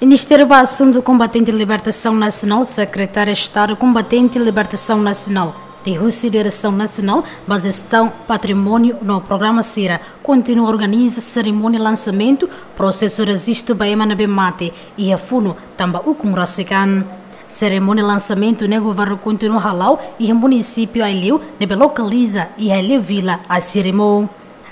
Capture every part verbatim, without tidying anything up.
Ministru ba Asuntu Kombatente Libertasaun Nasionál, Sekretáriu Estadu Kombatente Libertasaun Nasionál, liuhusi Diresaun Nasionál ba Jestaun Patrimóniu no Programa sira, kontinua organiza serimónia lansamentu prosesu rejistu ba ema ne'ebé mate iha funu tanba ukun rasik an. Serimónia lansamentu ne'e governu kontinua hala'o iha munisípiu Aileu ne'ebé lokaliza iha Aileu Vila, Asirimo.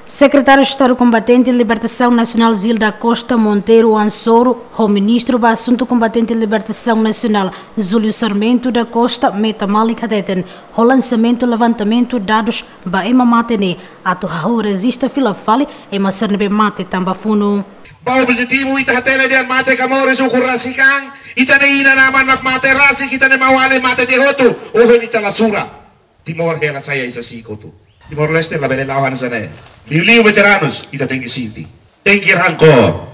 Sekretáriu Estadu Kombatente Libertasaun Nasionál Gil da Costa Monteiro Ansoro, ho Ministru ba Asuntu Kombatente Libertasaun Nasionál Júlio Sarmento da Costa Meta Malik hateten, ho lansamentu levantamentu dadus ba ema mate ne'e atu hahú rejista fila fali ema sira ne'ebé mate tanba funu. Ba objetivu ita hatene dehan mate ka moris, ukun rasik an, ita-nia inan-aman mak mate rasik, ita-nia maun-alin mate tiha hotu, ohin ita la sura. Timor hela sai hanesan kotuk. Timor-Leste labele la'o hanesan ne'e. Liuliu veteranus, ita tenke sente. Tenke rankór.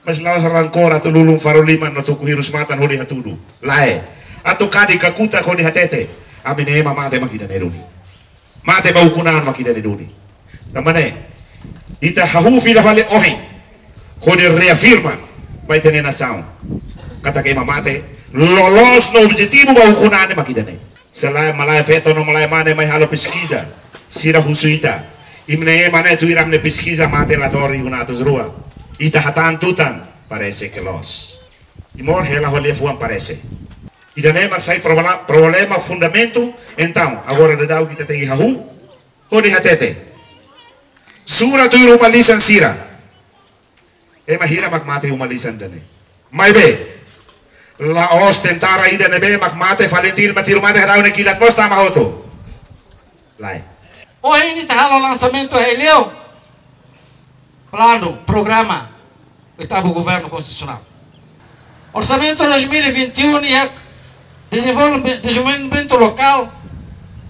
Mas la'ós rankór atu lulun faru liman no tuku hirus matan hodi hatudu. Lae. Atu kadi kakutak hodi hatete. Ami-nia ema mate mak ida-ne'e duni. Mate ba ukun an mak ida-ne'e duni. Tanba ne'e, ita hahú fila fali ohin hodi reafirma ba ita-nia nasaun katak ema mate loloos no objetivu ba ukun an mak ida-ne'e. Se lae, malae feto no malae mane mai halo peskiza, sira husu ita: Imi-nia ema ne'e tuir ami-nia peskiza mate la to'o rihun atus rua. Ita hatán tutan, parese ke loos. Timor hela ho liafuan parese. Ida-ne'e mak sai problema, problema fundamentu, entaun agora daudaun ita tenke hahú hodi hatete. Sura tuir uma-lisan sira. Ema hira mak mate uma-lisan ida-ne'e? Maibé la'ós tentara ida ne'ebé mak mate, FALINTIL mak tiru mate, Herau nia kilat mós tama hotu. Lae. Ohin ita halo lansamentu Aileu. Planu, programa, oitavu Governu Konstitusionál. Orsamentu dois mil e vinte e um iha dezenvolve-, dezenvolvimentu lokál,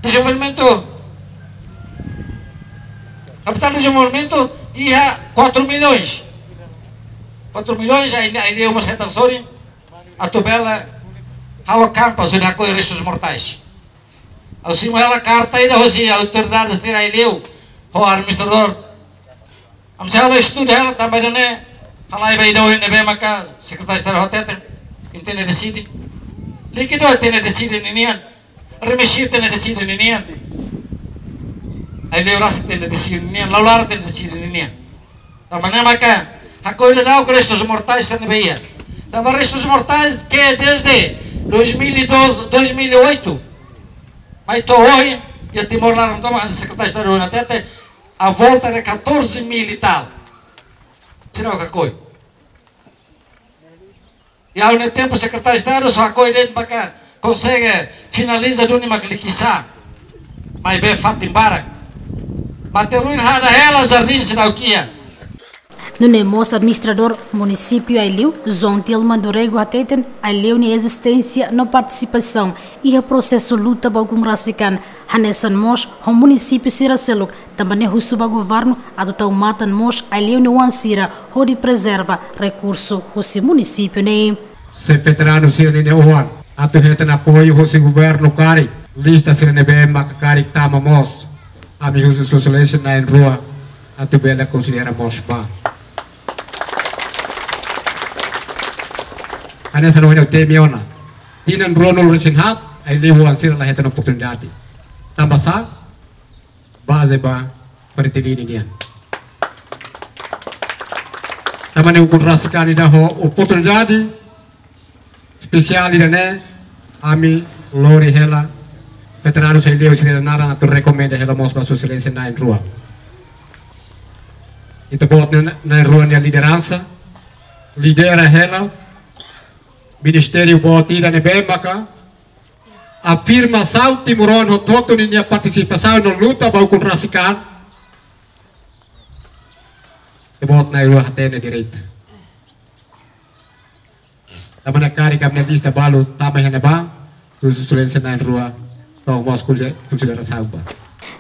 dezenvolvimentu, kapitál dezenvolvimentu iha quatro milhões. Quatro milhões, Aileu, Aileu mós hetan sorin atu bele halo kampu, atu hakoi restus mortais. Ha'u simu hela karta ida hosi autoridade sira Aileu ho administradór. Ami sei halo estudu hela tanba ida-ne'e, halai ba ida ohin ne'ebé maka Sekretáriu Estadu hateten, imi tenke deside. Líkidu tenke deside ninian. Remexi tenke deside ninian. Aileu rasik tenke deside ninian. Laran tenke deside ninian. Tanba ne'e maka hakoi daudaun restus mortais sira ne'ebé iha. Tanba restus mortais ke desde dois mil e doze, dois mil e oito mai to'o ohin, iha Timor laran tomak, Sekretáriu Estadu hatete, a volta de catorze mil e tal. Sira hakoi. Iha ha'u-nia tempu Sekretáriu Estadu só hakoi de'it maka konsege finaliza duni mak likisá. Maibé fatin barak. Mate-ruin hada hela, jardín seidauk iha. Nune'e mós administradór munisípiu Aileu, João Tilman do Rego hateten, Aileu nia ezisténsia no partisipasaun iha prosesu luta ba ukun rasik an, hanesan mós ho munisípiu sira seluk, tanba ne'e husu ba governu atu tau matan mós Aileu nia oan sira hodi prezerva rekursu husi munisípiu ne'e. Se veteranu sira-nia oan atu hetan apoiu husi governu karik, lista sira ne'ebé maka karik tama mós, ami husu Sua Exelénsia na'in-rua atu bele konsidera mós ba. Hanesan ohin ha'u temi ona, tinan ruanulu-resin-haat, Aileu oan sira la hetan oportunidade. Tanba sá? Baze ba FALINTIL nian. Tanba ne'e ukun rasik an ida ho oportunidade espesiál ida-ne'e, ami lori hela veteranu Aileu sira-nia naran atu rekomenda hela mós ba Sua Exelénsia na'in-rua. Ita-boot na'in-rua nia lideransa, lidera hela ministériu boot ida ne'ebé maka afirmasaun timoroan hotu-hotu ninia partisipasaun no luta ba ukun rasik an. Ita-boot na'in-rua hatene direitu. Tanba ne'e karik ami-nia lista balu tama iha ne'ebá, Sua Exelénsia na'in-rua tau mós konsi-, konsiderasaun ba.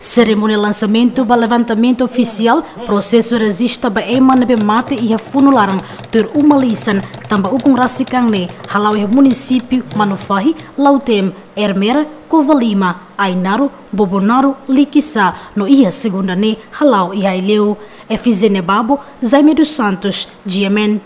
Serimónia lansamentu ba levantamentu ofisiál prosesu rejista ba ema ne'ebé mate iha funu laran tuir uma lisan tanba ukun rasik an ne'e hala'o iha munisípiu Manufahi, Lautém, Ermera, Covalima, Ainaro, Bobonaro, Likisá no iha segunda ne'e hala'o iha Aileu. Efigénia Babo, Jaime dos Santos, G M N.